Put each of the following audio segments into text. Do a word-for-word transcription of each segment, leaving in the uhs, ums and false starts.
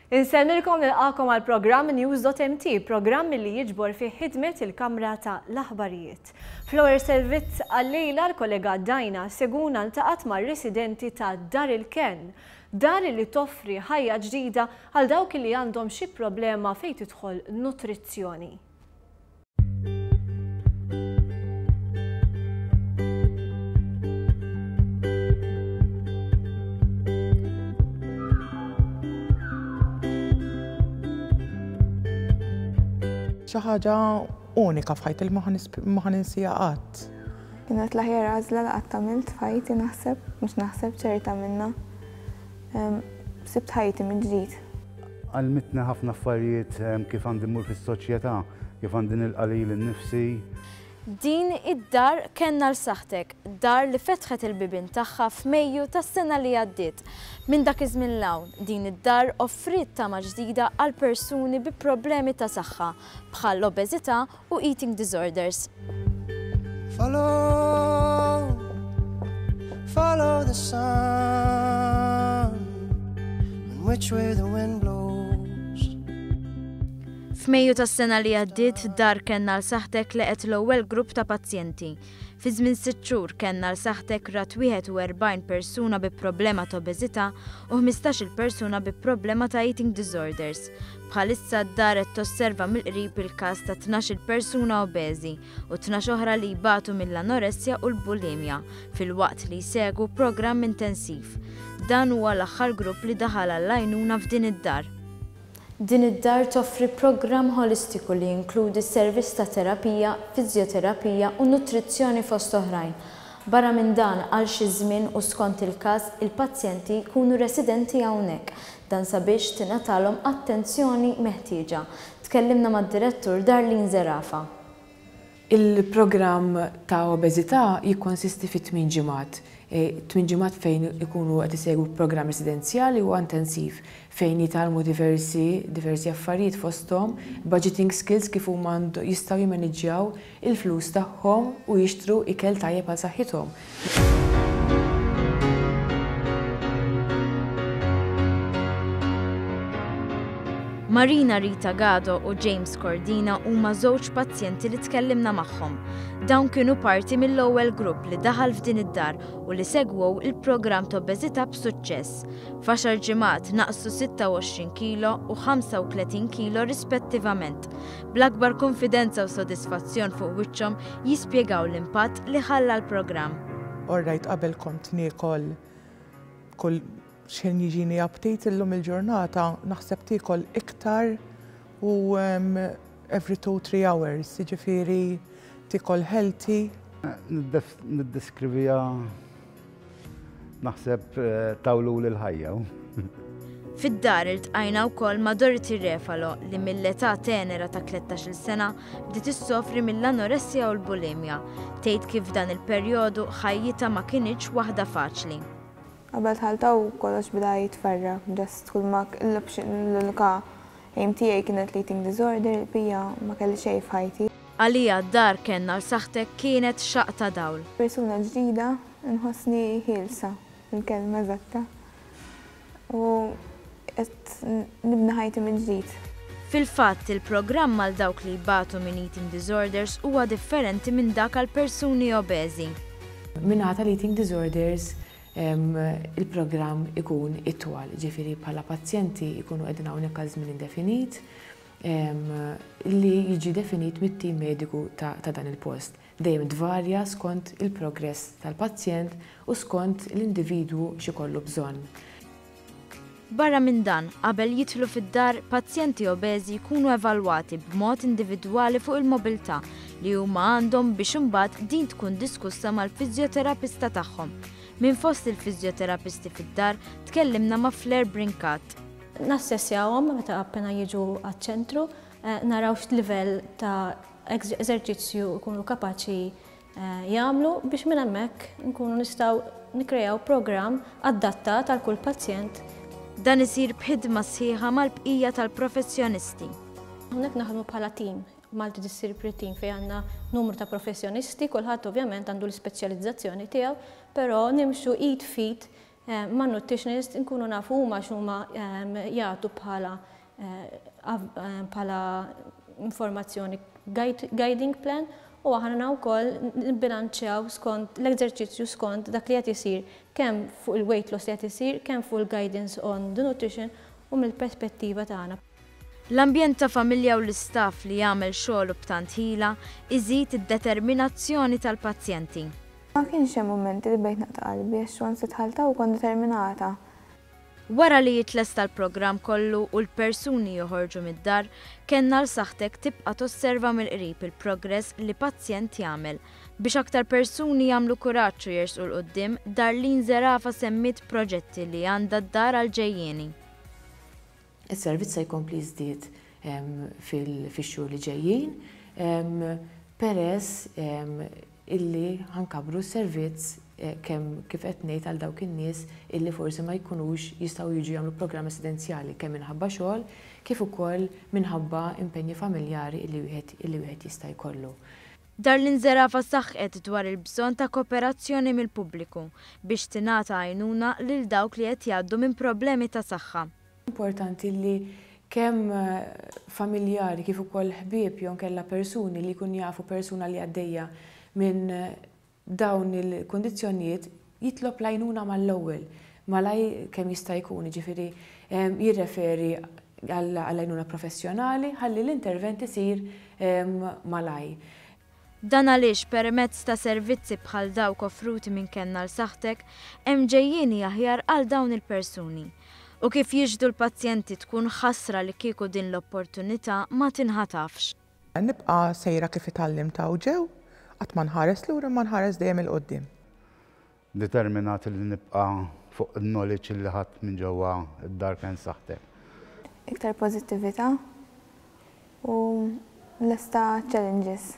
Insellmilkom, nilqagħkom għal programm News dot M T, programm li jiġbor fi ħidmet il-Kamra ta' l-Aħbarijiet. Fl-ewwel servizz għal-lejla, l-kollega Dajna Seguna ltaqgħet ma' residenti ta' Dar il-Ken, dar li toffri ħajja ġdida għal dawk li għandhom xi problema fejn tidħol nutrizzjoni. Xi ħaġa unika f'ħajti li ma ħa ninsiha qatt. Kienet l-aħjar għażla li qatt għamilt f'ħajti, naħseb, mhux naħseb, ċerta minnha. Sibt ħajti minn ġdid. Għallmitni ħafna affarijiet, kif għandi mmur fis-soċjetà, kif għandi nilqa' lili nnifsi. Din id-dar Kenn għal Saħħtek, dar li fetħet il-bibien tagħha f'Mejju tas-sena li għaddiet. Minn dak iż-żmien 'l hawn, din id-dar offriet tama ġdida għal persuni bi problemi ta' saħħa bħal obeżità u eating disorders. Follow, follow the sun, and which way the wind blows. F'Mejju tas-sena li għaddiet, Dar Kenn għal Saħħtek laqgħet l-ewwel grupp ta' pazjenti. Fi żmien sitt xhur Kenn għal Saħħtek rat wieħed u erbgħin persuna bi problema ta' obeżità u ħmistax-il persuna bi problema ta' eating disorders. Bħalissa d-dar qed tosserva mill-qrib il-każ ta' tnax-il persuna obeżi u tnax oħra li jbatu mill-anoressja u l-bulimja filwaqt li jsegwu programm intensiv. Dan huwa l-aħħar grupp li daħal għall-għajnuna f'din id-dar. Din id-dar toffri programm holistiku li jinkludi servizz ta' terapija, fizjoterapija u nutrizzjoni fost oħrajn. Barra minn dan, għal xi żmien u skont il-każ, il-pazjenti jkunu residenti hawnhekk, dan sabiex tingħatalhom attenzjoni meħtieġa. Tkellimna mad-direttur Darlene Zerafa. Il-programm ta' obeżità jikkonsisti fi tmien ġimgħat. E, tmien ġimgħat fejn ikunu qed isegwu programm residenzjali u intensiv fejn jitgħallmu diversi diversi affarijiet, fosthom budgeting skills, kif huma jistgħu jimaniġġjaw il-flus tagħhom u jixtru ikel tajjeb għal saħħithom. Marina Rita Gado u James Cordina huma żewġ pazjenti li tkellimna magħhom. Dawn kienu parti mill-ewwel grupp li daħal f'din id-dar u li segwew il-programm ta' obeżità b'suċċess. F'għaxar ġimgħat naqsu sitta u għoxrin kilo u ħamsa u tletin kilo rispettivament. Bl-akbar konfidenza u sodisfazzjon fuq wiċċhom jispjegaw l-impatt li ħalla l-programm. Alright, qabel kont niekol kull x'ħin jiġini aptit, illum il-ġurnata naħseb tiekol iktar u um, every two, three hours, jiġifieri tiekol healthy. Niddeskriviha, naħseb, eh, tawlu l-ħajja. Fid-dar iltqajna wkoll ma' Dorothy Refalo li mill-età tenera ta' tlettax-il sena bdiet issofri mill-anoressja u l-bulimja. Tgħid kif dan il-perjodu ħajjitha ma kinitx waħda faċli. Qabel dħalt hawn kollox beda jitfarrak, just kull ma l-unika aim tiegħi kienet l-eating disorder, il-bqija ma kelli xejn f'ħajti. Għalija Dar Kenn għal Saħħtek kienet xaqq ta' dawl. Persuna ġdida, nħossni ħielsa, il-kelma eżatta. U qed nibni ħajti minn ġdid. Fil-fatt, il-programm għal dawk li jbatu minn eating disorders huwa differenti minn dak għal persuni obeżi. Min-naħa tal-eating disorders, il-programm ikun itwal, ġifieri bħala pazjenti ikunu qegħdin hawnhekk għal żmien indefinit li jiġi definit mit-tim mediku ta', ta dan il-post. Dejjem tvarja skont il-progress tal-pazjent u skont l-individwu x'ikollu bżonn. Barra minn dan, qabel jidħlu fid-dar, pazjenti obeżi jkunu evalwati b'mod individwali fuq il-mobilità li huma għandhom biex imbagħad din tkun diskussa mal-fiżjoterapista tagħhom. Minn fost il-fiżjoterapisti fid-dar tkellimna ma' Flair Brinkat. Nassessjawhom meta appena jiġu għaċ-ċentru, eh, naraw x'livell ta' eżerċizzju jkunu kapaċi eh, jagħmlu biex minn hemmhekk nkunu nistgħu nikkrejaw programm adattat għal kull pazjent. Dan isir b'ħidma sħiħa mal-bqija tal-professjonisti. Hawnhekk naħdmu bħala team, multidisciplinary team, fejn għandna numru ta' professjonisti, kulħadd ovvjament għandu l-ispeċjalizzazzjoni tiegħu, però nimxu id f'id. ma' nutritionist nkunu nafu huma x'huma jagħtu bħala bħala informazzjoni guiding plan u aħna wkoll nbilanċjaw skont l-eżerċizzju skont dak li qed isir kemm fuq il-weight loss li qed isir, kemm fuq il-guidance on the nutrition u mill-perspettiva tagħna. L-ambjent ta' familja u l-istaff li jagħmel xogħlu b'tant ħila iżid id-determinazzjoni tal-pazjenti. Ma kienx hemm mumenti li bdejt naqta' qalbi għax once dħalt hawn kont determinata. Wara li jitlesta l-programm kollu u l-persuni joħorġu mid-dar, Kenn għal Saħħtek tibqa' tosserva mill-qrib il-progress li pazjent jagħmel. Biex aktar persuni jagħmlu kuraġġ u jersqu 'l quddiem, Darlene Zerafa semmiet proġetti li għandha d-dar għal-ġejjieni. Is-servizz se jkompli jiżdied fix-xhur li ġejjin, peress illi ħa nkabbru s-servizz kemm kif qed ngħid għal dawk in-nies illi forsi ma jkunux jistgħu jiġu jagħmlu programm residenzjali kemm minħabba xogħol kif ukoll minħabba impenji familjari illi wieħed illi wieħed jista' jkollu. Darlene Zerafa saħqet dwar il-bżonn ta' kooperazzjoni mill-pubbliku biex tingħata għajnuna lil dawk li qed jgħaddu minn problemi ta' saħħa. Importanti li kemm familjari kif ukoll ħbieb jew kella persuni li jkun jafu persuna li għaddejja minn dawn il-kundizzjonijiet jitlob l-għajnuna mal-ewwel, malaj kemm jista' jkun, jiġifieri jirreferi għall-għajnuna professjonali ħalli l-intervent isir malaj. Dan għaliex permezz ta' servizzi bħal dawk offruti minn Kenn għal Saħħtek hemm ġejjieni aħjar għal dawn il-persuni. U kif jiġdu l-pazjenti tkun ħasra li kieku din l-opportunità ma tinħatafx. Nibqa' sejra kif tgħallimt hawn ġew, qatt ma nħares lura ma nħares dejjem 'il quddiem. Determinat li nibqa' fuq il-knowledge li ħadt minn ġewwa id-dar Kenn Saħħtek. Iktar pożittività u lesta challenges.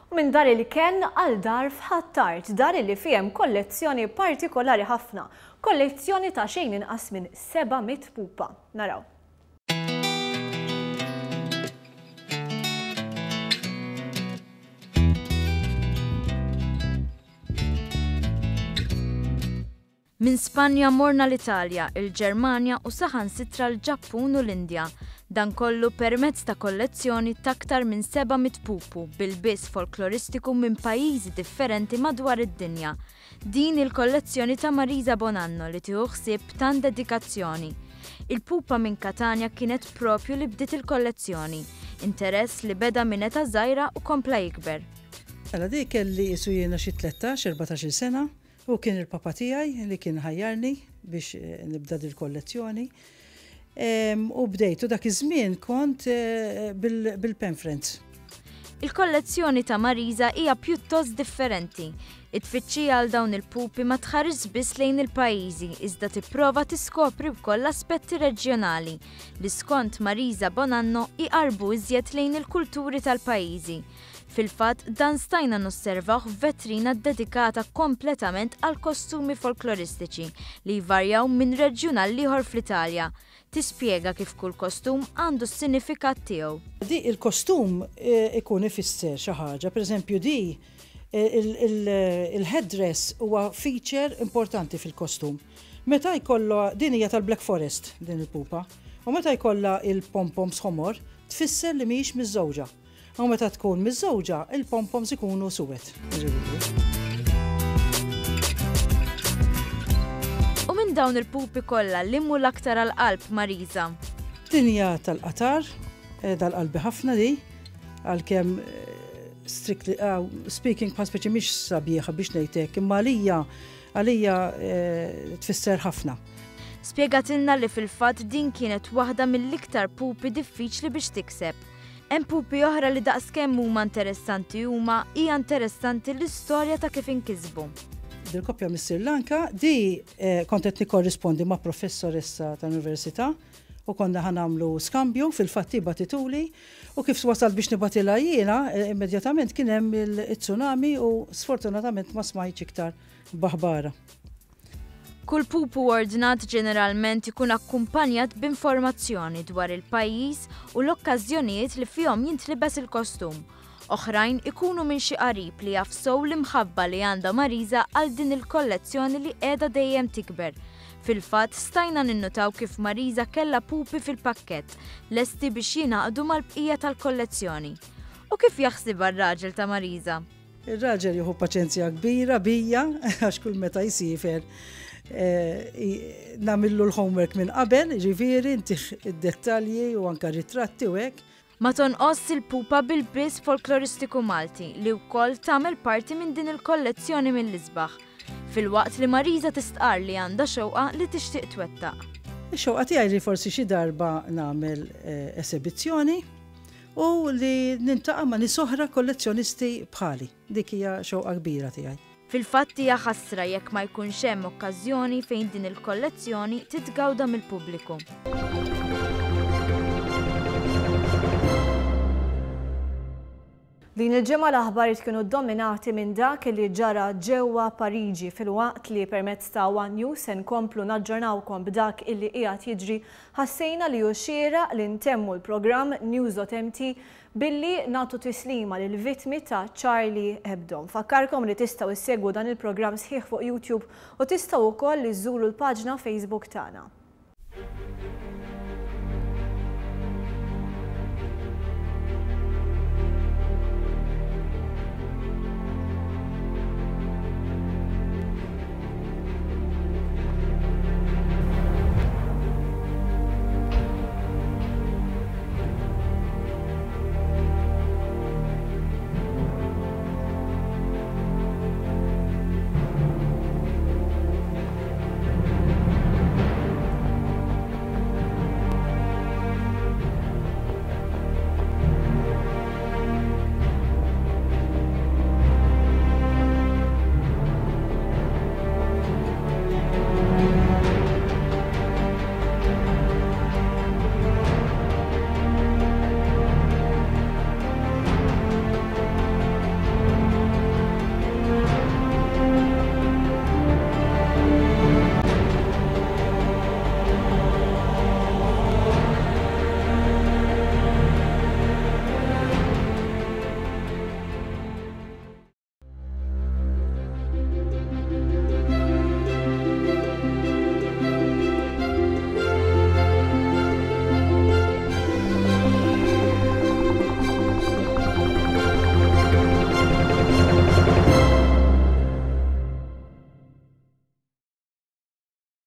U minn dar il-Kenn għal dar f'Ħ'Attard, dar li fihem kollezzjoni partikolari ħafna, kollezzjoni ta' xejn inqas minn seba' mitt pupa. Naraw. Minn Spanja morna l-Italja, il-Ġermanja u saħansitra l-Ġappun u l-Indja. Dan kollu permezz ta' kollezzjoni ta' aktar minn seba' mitt pupu bil-biss folkloristiku minn pajjiżi differenti madwar id-dinja. Din il-kollezzjoni ta' Marisa Bonanno li tieħu ħsieb tant dedikazzjoni. Il-pupa minn Katania kienet propju li bdiet il-kollezzjoni, interess li beda minn età żgħira u kompla jikber. Mela di kelli isu jiena xi tlettax, erbatax-il sena. U kien il-papa tiegħi li kien ħajjarni biex nibda dil-kollezzjoni. U bdejtu dak iż-żmien kont bil-pen friends. Il-kollezzjoni ta' Marisa hija pjuttost differenti. It-tfittxija għal dawn il-pupi ma tħares biss lejn il-pajjiżi, iżda tipprova tiskopri wkoll aspetti reġjonali li skont Marisa Bonanno iqarbu iżjed lejn il-kulturi tal-pajjiżi. Fil-fatt, dan stajna nosservawh f'vetrina dedikata kompletament għal kostumi folkloristiċi li jvarjaw minn reġjun għal ieħor fl-Italja. Tispjega kif kull kostum għandu s-sinifikat tiegħu. Di il-kostum ikun ifisser xi ħaġa, pereżempju di il-headdress huwa feature importanti fil-kostum. Meta jkollha din hija tal-Black Forest din il-pupa, u meta jkollha il-pompoms ħomor tfisser li mhijiex miżżewġa. U meta tkun miżżewġa, il-pompoms ikunu suwed. U minn dawn il-pupi kollha li mhu l-aktar għall-qalb Marisa. Din hija tal-qatar, dal-qalbi ħafna di, għalkemm strictly speaking bħal speċi mhix sabiħa biex ngħidlek, imma għalija għalija tfisser ħafna. Spjegatilna li fil-fatt din kienet waħda mill-iktar pupi diffiċli biex tikseb. Hemm pupi oħra li daqskemm huma interessanti huma hija interessanti l-istorja ta' kif inkisbu. Dil-koppja mis Sri Lanka di kont qed nikkorrispondi ma' professoressa tal-università u konna ħa nagħmlu skambju fil-fatt bagħtituli u kif wasal biex nibatilha jiena immedjatament kien hemm il-tsunami u sfortunatament ma smajtx iktar b'aħbarha. Kull pupu ordnat ġeneralment ikun akkumpanjat b'informazzjoni dwar il-pajjiż u l-okkażjonijiet li fihom jintlibes il-kostum. Oħrajn ikunu minn xi qarib li jaf sew l-imħabba li għandha Marisa għal din il-kollezzjoni li qiegħda dejjem tikber. Fil-fatt stajna ninnutaw kif Marisa kellha pupi fil-pakkett, lesti biex jingħaqdu mal-bqija tal-kollezzjoni. U kif jaħsibha r-raġel ta' Marisa? Ir-raġel jieħu paċenzja kbira bija, għax kull meta jsiefer eh, nagħmillu l-homework minn qabel, ġifieri ntih id-dettalji u anka ritratti u hekk. Ma tonqos il-pupa bil-ilbies folkloristiku Malti li wkoll tagħmel parti minn din il-kollezzjoni mill-isbaħ. Filwaqt li Marisa tistqar li għandha xewqa li tixtieq twettaq. Ix-xewqa tiegħi li forsi xi darba nagħmel eh, esebizzjoni u li niltaqa' ma' nies oħra kollezzjonisti bħali. Dik hija xewqa kbira tiegħi. Fil-fatt hija ħasra jekk ma jkunx hemm okkażjoni fejn din il-kollezzjoni titgawda mill-pubbliku. Din il-ġimgħa l-aħbarijiet kienu dominati minn dak li ġara ġewwa Pariġi, filwaqt li permezz ta' One News se nkomplu naġġornawkom b'dak illi qiegħed jiġri, ħassejna li hu xieraq li ntemmu l-programm News dot M T billi nagħtu tislima lil vittmi ta' Charlie Hebdo. Nfakkarkom li tistgħu issegwu dan il-programm sħiħ fuq YouTube u tistgħu wkoll iżżuru l-paġna Facebook tagħna.